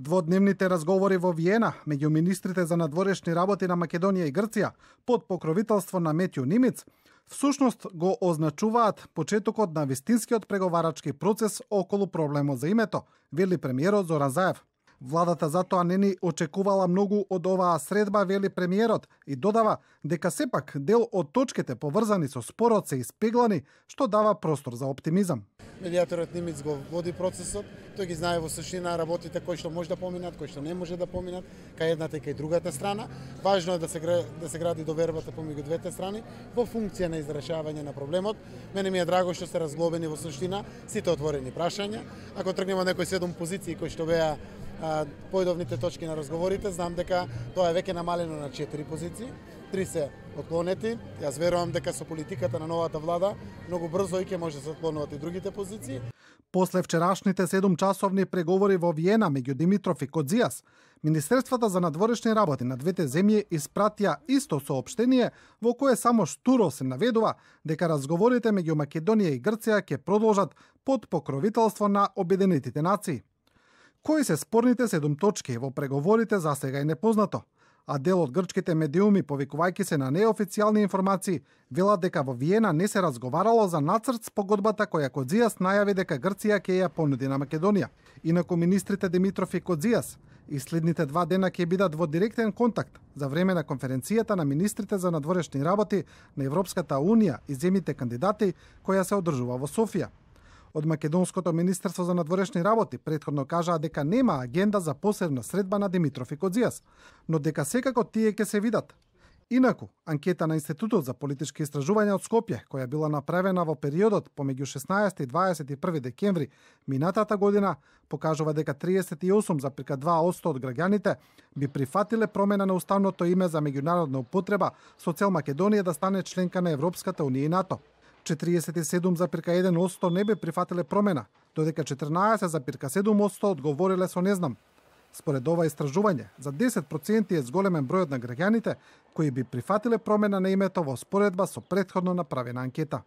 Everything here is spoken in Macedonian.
Дводневните разговори во Виена меѓу министрите за надворешни работи на Македонија и Грција под покровителство на Метју Нимиц всушност го означуваат почетокот на вистинскиот преговарачки процес околу проблемот за името, вели премиерот Зоран Заев. Владата затоа не ни очекувала многу од оваа средба, вели премиерот, и додава дека сепак дел од точките поврзани со спорот се испеглани, што дава простор за оптимизам. Медиаторот Нимиц го води процесот, тој ги знае во суштина работите кои што може да поминат, кои што не може да поминат, кај едната и кај другата страна. Важно е да се гради довербата помеѓу двете страни во функција на изрешавање на проблемот. Мене ми е драго што се разглобени во суштина сите отворени прашања. Ако тргнеме од некои 7 позиции кои што беа поедовните точки на разговорите, знам дека тоа е веќе намалено на 4 позиции. 3 се отклонети. Јас верувам дека со политиката на новата влада многу брзо и ќе може да се отклонуваат и другите позиции. После вчерашните 7-часовни преговори во Виена меѓу Димитров и Кодзијас, Министерствата за надворешни работи на двете земји испратија исто соопштение во кое само штуро се наведува дека разговорите меѓу Македонија и Грција ќе продолжат под покровителство на Обединетите нации. Кои се спорните 7 точки во преговорите за сега е непознато, а дел од грчките медиуми, повикувајќи се на неофицијални информации, велат дека во Виена не се разговарало за нацрт спогодбата која Кодзијас најави дека Грција ќе ја понуди на Македонија. Инаку министрите Димитров и Кодзијас и следните 2 дена ќе бидат во директен контакт за време на конференцијата на министрите за надворешни работи на Европската Унија и земјите кандидати која се одржува во Софија. Од Македонското министерство за надворешни работи претходно кажаа дека нема агенда за посебна средба на Димитров и Кодзијас, но дека секако тие ќе се видат. Инаку, анкета на Институтот за политички истражувања од Скопје, која била направена во периодот помеѓу 16 и 21 декември минатата година, покажува дека 38,2% од граѓаните би прифатиле промена на уставното име за меѓународна употреба со цел Македонија да стане членка на Европската Унија и НАТО. 47,1% не би прифатиле промена, додека 14,7% одговориле со не знам. Според ова истражување, за 10% е зголемен бројот на граѓаните кои би прифатиле промена на името во споредба со претходно направена анкета.